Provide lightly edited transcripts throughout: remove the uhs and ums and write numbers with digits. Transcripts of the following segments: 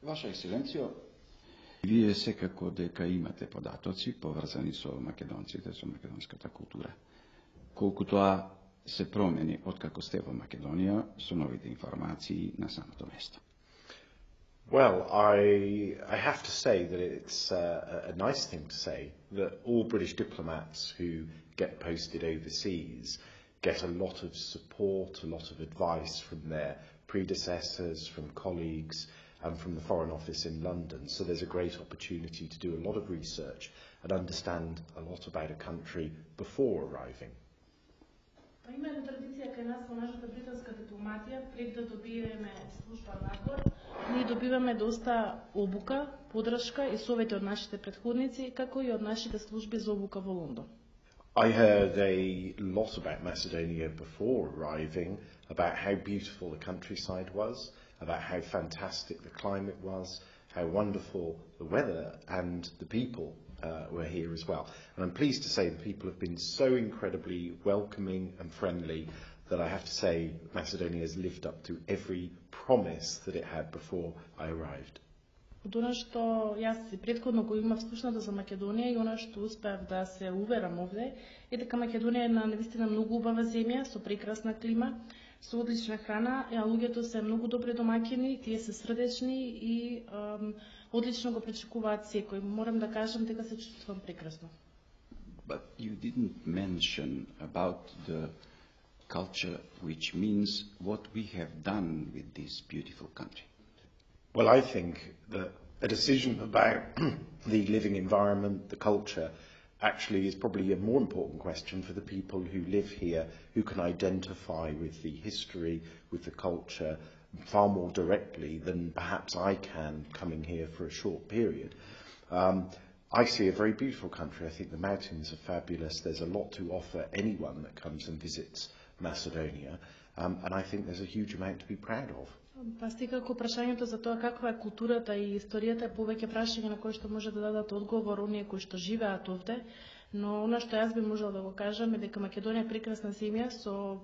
Ваша екселенцијо, вие секако дека имате податоци поврзани со македонците, со македонската култура. Колку тоа се промени откако сте во Македонија со новите информации на самото место? Well, I have to say that it's a nice thing to say that all British diplomats who get posted overseas get a lot of support, a lot of advice from their predecessors, from colleagues, and from the Foreign Office in London. So there's a great opportunity to do a lot of research and understand a lot about a country before arriving. Има една традиција кај нас во нашата британска дипломатија, пред да добиеме служба надвор, ние добиваме доста обука, подршка и совети од нашите претходници, како и од нашите служби за обука во Лондон. I heard a lot about Macedonia before arriving, about how beautiful the countryside was, about how fantastic the climate was, how wonderful the weather and the people were here as well. And I'm pleased to say the people have been so incredibly welcoming and friendly that I have to say Macedonia has lived up to every promise that it had before I arrived. Од она што јас и претходно го имав слушнато за Македонија и она што успеав да се уверам овде, е дека Македонија е на навистина многу убава земја, со прекрасна клима, со одлична храна, а луѓето се многу добри домаќини, тие се срдечни и одлично го пречекуваат секој. Морам да кажам дека се чувствувам прекрасно. But you didn't mention about the culture, which means what we have done with this beautiful country. Well, I think that a decision about the living environment, the culture, actually is probably a more important question for the people who live here, who can identify with the history, with the culture, far more directly than perhaps I can coming here for a short period. I see a very beautiful country. I think the mountains are fabulous. There's a lot to offer anyone that comes and visits Macedonia, and I think there's a huge amount to be proud of. Секако прашањето за тоа каква е културата и историјата е повеќе прашање на кои што може да дадат одговор оние кои што живеат овде, но она што јас би можела да го кажам е дека Македонија е прекрасна земја со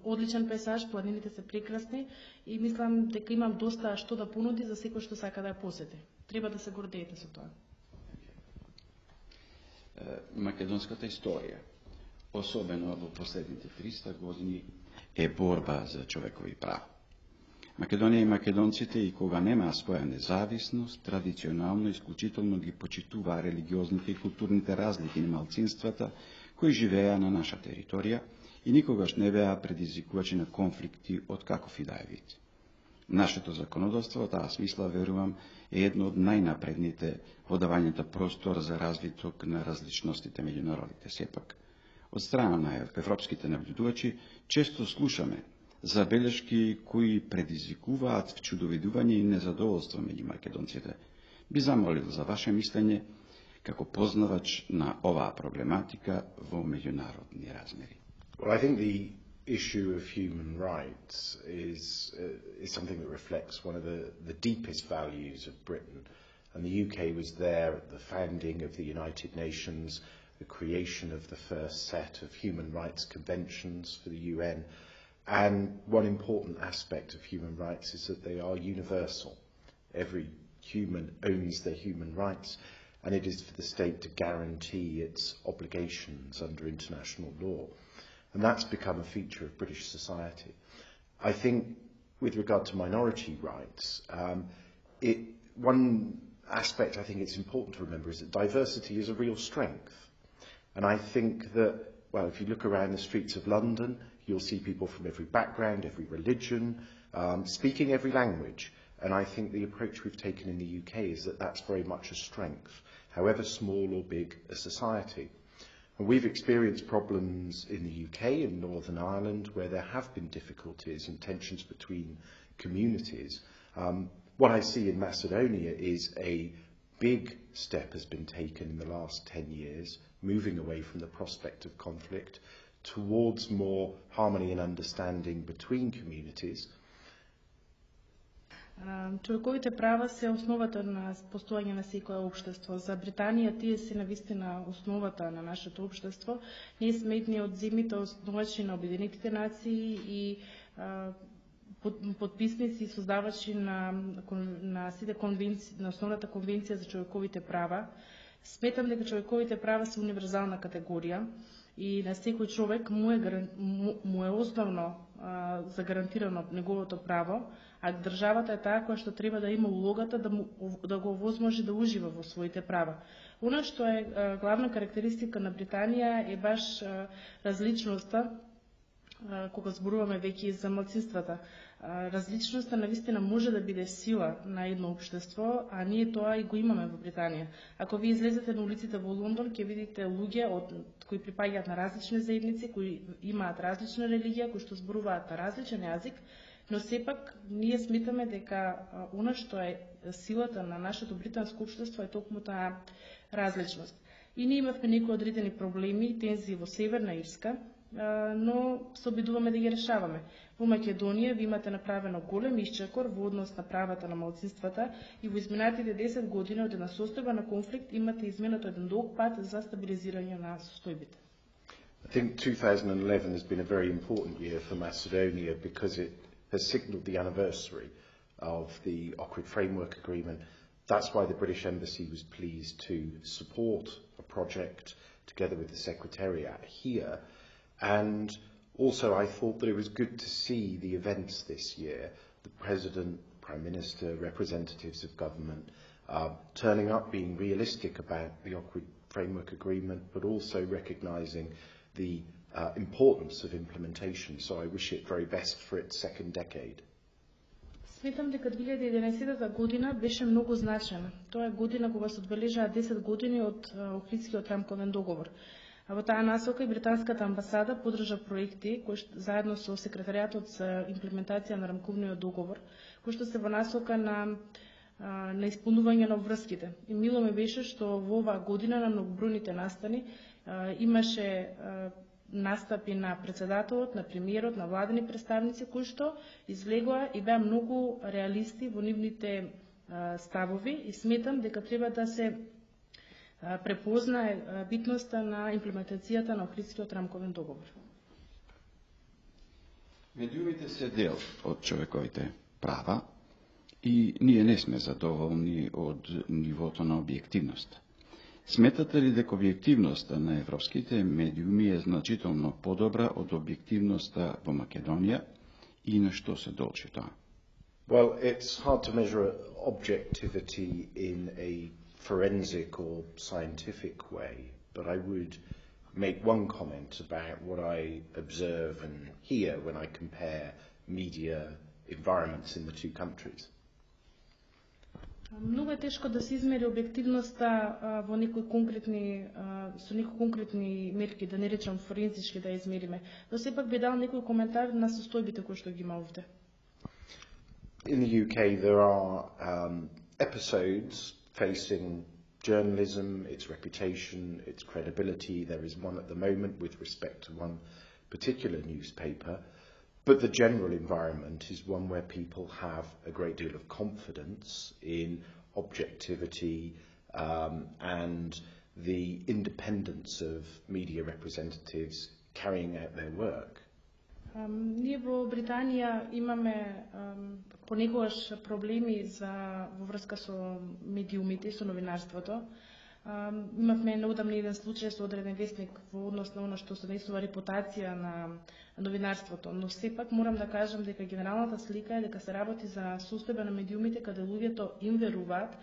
одличен пейзаж, планините се прекрасни и мислам дека имам доста што да понуди за секој што сака да ја посети. Треба да се гордеете со тоа. Македонската историја, особено во последните 300 години, е борба за човекови права. Македонија и македонците и кога немаа своја независност, традиционално исклучително ги почитуваа религиозните и културните разлики на малцинствата кои живееа на наша територија и никогаш не беа предизвикувачи на конфликти од каков и да е вид. Нашето законодавство, во таа смисла, верувам, е едно од најнапредните во давањето простор за развиток на различностите меѓу народите. Сепак, од страна на европските наблюдувачи, често слушаме забелешки кои предизвикуваат вчудовидување и незадоволство меѓу македонците. Би замолил за ваше мислење како познавач на оваа проблематика во меѓународни размери. Well, I think the issue of human rights is something that reflects one of the deepest values of Britain. And the UK was there at the founding of the United Nations, the creation of the first set of human rights conventions for the UN. And one important aspect of human rights is that they are universal. Every human owns their human rights, and it is for the state to guarantee its obligations under international law. And that's become a feature of British society. I think with regard to minority rights, one aspect I think it's important to remember is that diversity is a real strength. And I think that, well, if you look around the streets of London, you'll see people from every background, every religion, speaking every language. And I think the approach we've taken in the UK is that that's very much a strength, however small or big a society. And we've experienced problems in the UK and Northern Ireland where there have been difficulties and tensions between communities. What I see in Macedonia is a big step has been taken in the last 10 years, moving away from the prospect of conflict towards more harmony and understanding between communities. Човековите права се основата на постојање на секое општество. За Британија тие се навистина основата на нашето општество. Ние сме едни од земјите основачи на Обединетите нации и подписници и создавачи на сите конвенции, на основната конвенција за човековите права. Сметам дека човековите права се универзална категорија и на секој човек му е основно загарантирано неговото право, а државата е таа која што треба да има улогата да го овозможи да ужива во своите права. Она што е главна карактеристика на Британија е баш различноста, кога зборуваме веќе за малцинствата. Различноста навистина може да биде сила на едно општество, а ние тоа и го имаме во Британија. Ако ви излезете на улиците во Лондон, ќе видите луѓе кои припаѓаат на различни заедници, кои имаат различна религија, кои што зборуваат на различен јазик, но сепак ние сметаме дека она што е силата на нашето британско општество е токму таа различност. И ние имавме некои одредени проблеми, тензии во Северна Ирска, но се обидуваме да ги решаваме. Во Македонија ви имате направено голем исчекор во однос на правата на малцинствата и во изминатите 10 години од една состојба на конфликт имате изминато еден долг пат за стабилизирање на состојбите. I think 2011 has been a very important year for Macedonia because it has signalled the anniversary of the Ohrid Framework Agreement. That's why the British Embassy was pleased to support a project together with the Secretariat here. And also I thought that it was good to see the events this year, the President, Prime Minister, representatives of government turning up, being realistic about the Ohrid Framework Agreement, but also recognising the importance of implementation. So I wish it very best for its second decade. Сметам дека 2011 година беше многу значена. Тоа е година кога се одбележаа 10 години од Охридскиот рамковен договор. А во таа насока и британската амбасада поддржа проекти кои заедно со секретаријатот за имплементација на рамковниот договор, кои што се во насока на исполнување на обврските. И мило ме беше што во оваа година на многобројните настани имаше настапи на председателот, на премиерот, на владени представници кои што излегоа и беа многу реалисти во нивните ставови и сметам дека треба да се препознае битноста на имплементацијата на Охридскиот рамковен договор. Медиумите се дел од човековите права и ние не сме задоволни од нивото на објективност. Сметате ли дека објективноста на европските медиуми е значително подобра од објективноста во Македонија и на што се дължи тоа? Well, it's hard to measure objectivity in a forensic or scientific way, but I would make one comment about what I observe and hear when I compare media environments in the two countries. Многу е тешко да се измери објективноста во некои конкретни со некои конкретни мерки, да не речам форензички да измериме. Но сепак би дал некој коментар на состојбите кои што ги има овде. In the UK there are episodes facing journalism, its reputation, its credibility. There is one at the moment with respect to one particular newspaper. But the general environment is one where people have a great deal of confidence in objectivity and the independence of media representatives carrying out their work. Ние во Британија имаме понекогаш проблеми во врска со медиумите и со новинарството. Имавме неодамно еден случај со одреден вестник во однос на она што се нарисува репутација на новинарството, но сепак морам да кажам дека генералната слика е дека се работи за состојба на медиумите каде луѓето им веруваат,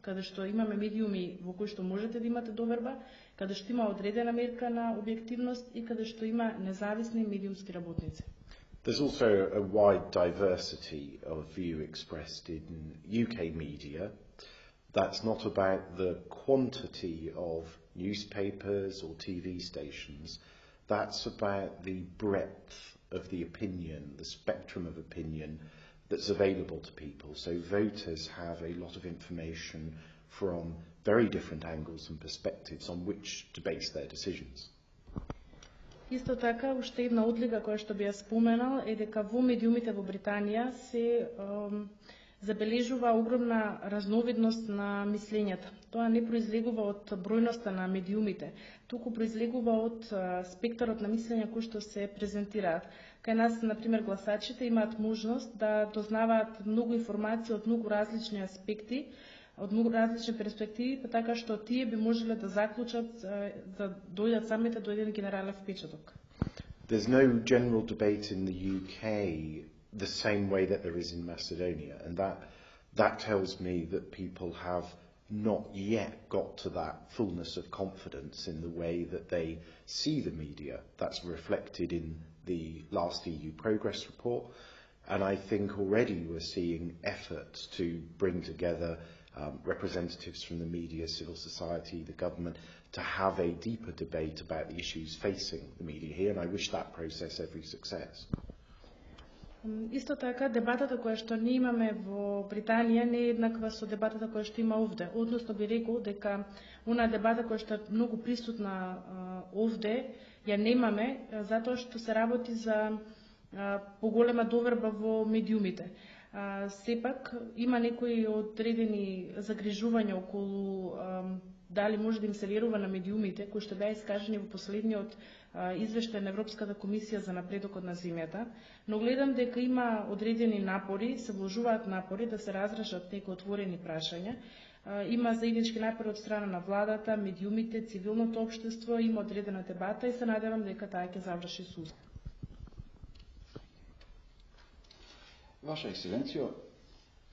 каде што имаме медиуми во кои што можете да имате доверба, каде што има одредена мерка на објективност и каде што има независни медиумски работници. There's also a wide diversity of view expressed in UK media. That's not about the quantity of newspapers or TV stations. That's about the breadth of the opinion, the spectrum of opinion that's available to people. So voters have a lot of information from very different angles and perspectives on which to base their decisions. Исто така, уште една одлика која што би ја споменал е дека во медиумите во Британија се забележува огромна разновидност на мислењата. Тоа не произлегува од бројноста на медиумите, туку произлегува од спектарот на мислења кои што се презентираат. Кај нас, например, гласачите имаат можност да дознаваат многу информации од многу различни аспекти, од многу различни перспективи, па така што тие би можеле да заклучат да дојдат самите до еден генерален впечаток. There's no general debate in the UK the same way that there is in Macedonia, and that tells me that people have not yet got to that fullness of confidence in the way that they see the media. That's reflected in the last EU progress report, and I think already we're seeing efforts to bring together representatives from the media, civil society, the government, to have a deeper debate about the issues facing the media here, and I wish that process every success. Исто така, дебатата која што ние имаме во Британија не е еднаква со дебатата која што има овде. Односно би рекол дека она дебата која што е многу присутна овде ја немаме, затоа што се работи за поголема доверба во медиумите. Сепак има некои одредени загрижувања околу дали може да им се верува на медиумите, кои што беа искажани во последниот извештај на Европската комисија за напредокот на земјата, но гледам дека има одредени напори, се вложуваат напори да се разрешат некои отворени прашања. Има заеднички напори од страна на владата, медиумите, цивилното општество, има одредена дебата и се надевам дека таа ќе заврши со успех. Ваша екселенцијо,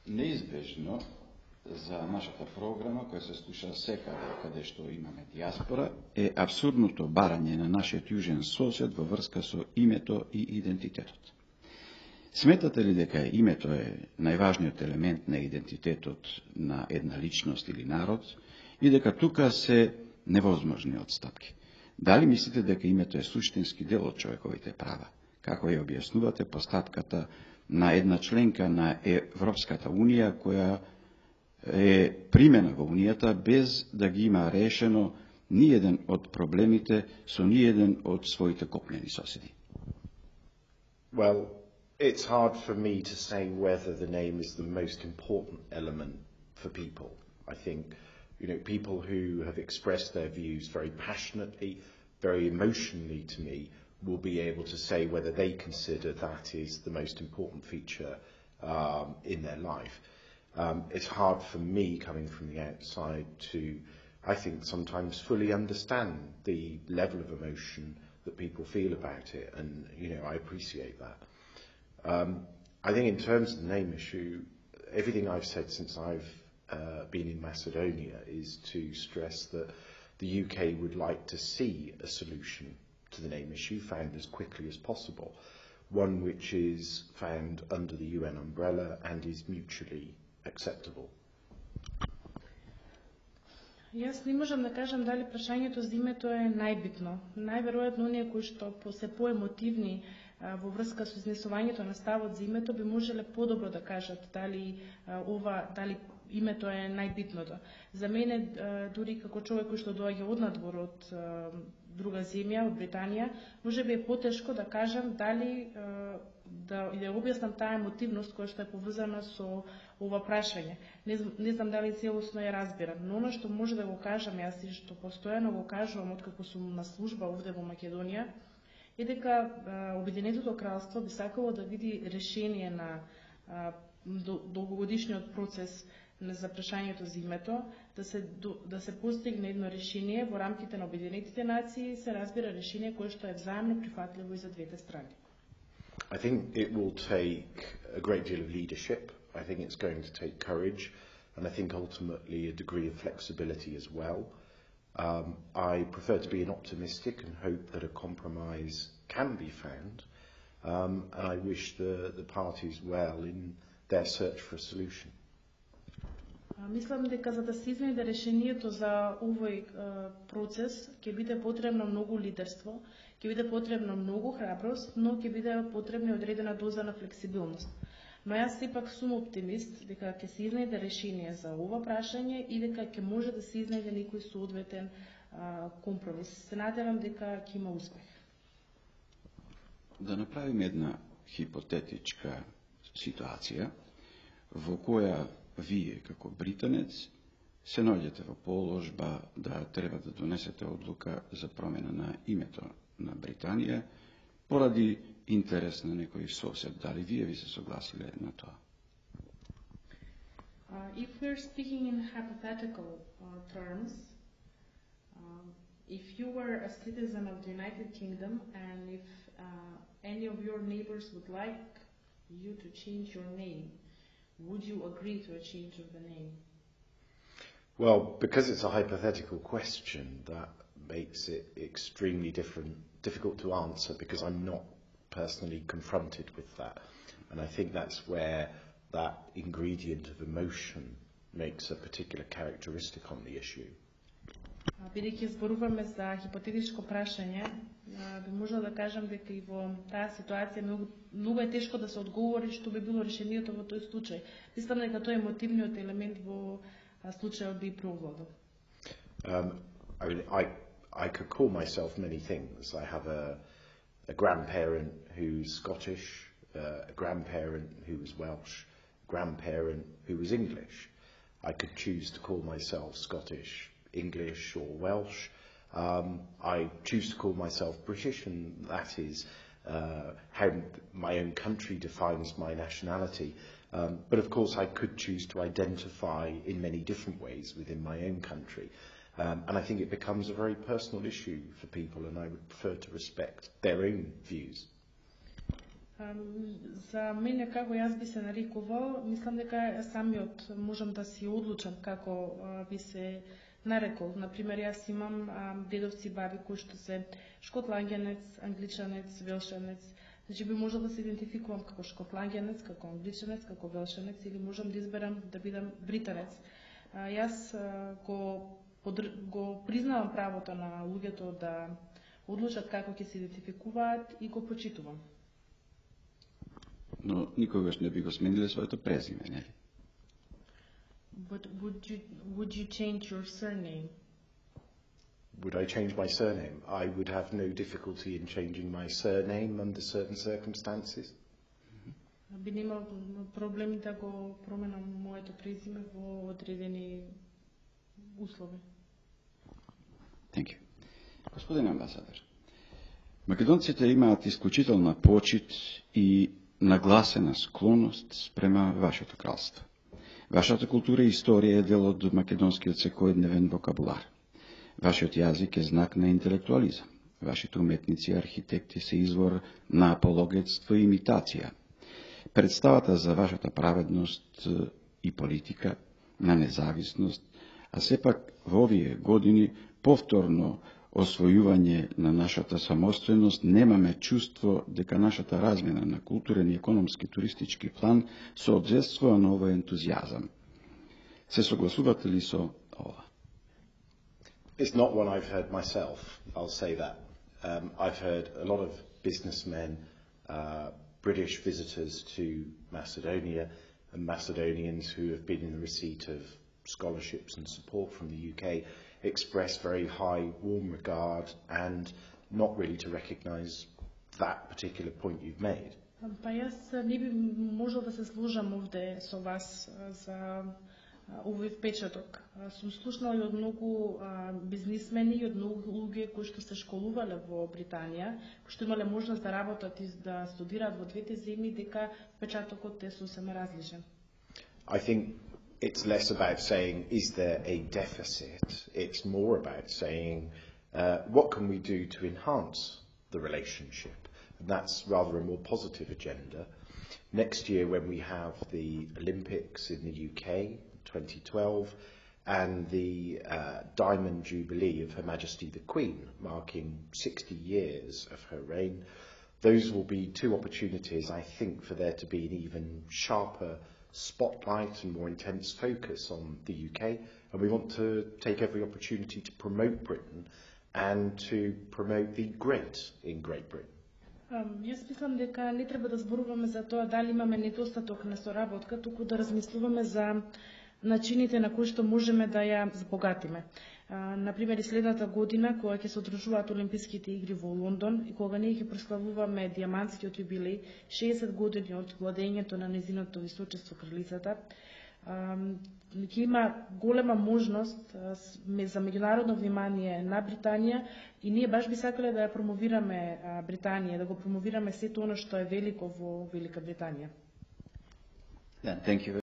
неизбежно за нашата програма, која се слуша секаде каде што имаме диаспора, е абсурдното барање на нашиот јужен сосед во врска со името и идентитетот. Сметате ли дека името е најважниот елемент на идентитетот на една личност или народ и дека тука се невозможни отстапки? Дали мислите дека името е суштински дел од човековите права? Како ја објаснувате постапката на една членка на Европската Унија која е примена во Унијата без да ги има решено ниеден од проблемите со ниеден од своите копнени соседи? Well, it's hard for me to say whether the name is the most important element for people. I think, people who have expressed their views very passionately, very emotionally to me, will be able to say whether they consider that is the most important feature in their life. It's hard for me, coming from the outside, to, I think, sometimes fully understand the level of emotion that people feel about it, and, I appreciate that. I think in terms of the name issue, everything I've said since I've been in Macedonia is to stress that the UK would like to see a solution to the name issue found as quickly as possible, one which is found under the UN umbrella and is mutually acceptable. Јас не можам да кажам дали прашањето за името е најбитно. Најверојатно оние кои што се поемотивни во врска со изнесувањето на ставот за името би можеле подобро да кажат дали името е најбитното. За мене, дури како човек кој што доаѓа однадвор од друга земја, од Британија, може би е потешко да кажам дали да објаснам таа емотивност која што е поврзана со ова прашање. Не знам дали целосно ја разбирам, но оно што може да го кажам, јас и што постојано го кажувам откако сум на служба овде во Македонија, е дека Обединетото кралство би сакало да види решение на долгогодишниот процес за прашањето за името, да се постигне едно решение во рамките на Обединетите нации, се разбира решение кое што е взаимно прифатливо и за двете страни. I think it will take a great deal of leadership. I think it's going to take courage, and I think ultimately a degree of flexibility as well. I prefer to be an optimistic and hope that a compromise can be found, and I wish the parties well in their search for a solution. Мислам дека за да се изнајде решението за овој процес ќе биде потребно многу лидерство, ќе биде потребно многу храброст, но ќе биде потребна одредена доза на флексибилност. Но јас сепак сум оптимист дека ќе се изнајде решение за ова прашање и дека ќе може да се изнајде некој соодветен компромис. Се надевам дека ќе има успех. Да направиме една хипотетичка ситуација во која вие, како британец, се наоѓате во положба да треба да донесете одлука за промена на името на Британија поради интерес на некој сосед. Дали вие ви се согласиле на тоа? If we're speaking in hypothetical terms, if you were a citizen of the United Kingdom and if any of your neighbors would like you to change your name, would you agree to a change of the name? Well, because it's a hypothetical question, that makes it extremely difficult to answer because I'm not personally confronted with that. And I think that's where that ingredient of emotion makes a particular characteristic on the issue. Бидејќи зборуваме за хипотетичко прашање, би можела да кажам дека и во таа ситуација многу е тешко да се одговори што би било решението во тој случај. Мислам дека тоа е емотивниот елемент во случајот би преовладал. I could call myself many things. I have a grandparent who's Scottish, a grandparent who was Welsh, a grandparent who was English. I could choose to call myself Scottish, English or Welsh. I choose to call myself British, and that is how my own country defines my nationality. But of course I could choose to identify in many different ways within my own country. And I think it becomes a very personal issue for people, and I would prefer to respect their own views. За мене како јас би се нарекувал, мислам дека самиот можам да си одлучам како би се нарекол. Например, јас имам дедовци и баби кои што се шкотланѓанец, англичанец, велшанец. Значи би можел да се идентификувам како шкотланѓанец, како англичанец, како велшанец или можам да изберам да бидам британец. Јас го признавам правото на луѓето да одлучат како ќе се идентификуваат и го почитувам. Но никогаш не би го смениле своето презиме, нели? But would you change your surname? Would I change my surname? I would have no difficulty in changing my surname under certain circumstances. Би немал проблеми да го променам моето презиме во одредени услови. Thank you. Господин амбасадор, македонците имаат исклучителна почит и нагласена склоност спрема вашето кралство. Вашата култура и историја е дел од македонскиот секојдневен вокабулар. Вашиот јазик е знак на интелектуализам. Вашите уметници и архитекти се извор на апологетство и имитација. Представата за вашата праведност и политика, на независност, а сепак во овие години повторно освојување на нашата самостојност, немаме чувство дека нашата размена на културен и економски туристички план соодветствува на овој ентузијазам. Се согласувате ли со ова? It's not one I've heard myself, I'll say that. I've heard a lot of businessmen, British visitors to Macedonia, and Macedonians who have been in the receipt of scholarships and support from the UK express very high, warm regard and not really to recognise that particular point you've made. Па јас не би можел да се сложам овде со вас за овој впечаток. Сум слушнал и од многу бизнисмени и од многу луѓе кои што се школувале во Британија, кои што имале можност да работат и да студираат во двете земји, дека впечатокот е сосема различен. I think it's less about saying, is there a deficit? It's more about saying, what can we do to enhance the relationship? And that's rather a more positive agenda. Next year, when we have the Olympics in the UK, 2012, and the Diamond Jubilee of Her Majesty the Queen, marking 60 years of her reign, those will be two opportunities, I think, for there to be an even sharper spotlight and more intense focus on the UK, and we want to take every opportunity to promote Britain and to promote the great in Great Britain. Јас мислам дека не треба да зборуваме за тоа дали имаме недостаток на соработка, туку да размислуваме за начините на кои што можеме да ја збогатиме. Например, и следната година, кога ќе се одржуваат Олимписките игри во Лондон и кога ние ќе прославуваме диамантскиот јубилеј, 60 години од владењето на незиното височество кралицата, ќе има голема можност за меѓународно внимание на Британија и ние баш би сакале да ја промовираме Британија, да го промовираме сето оно што е велико во Велика Британија. Thank you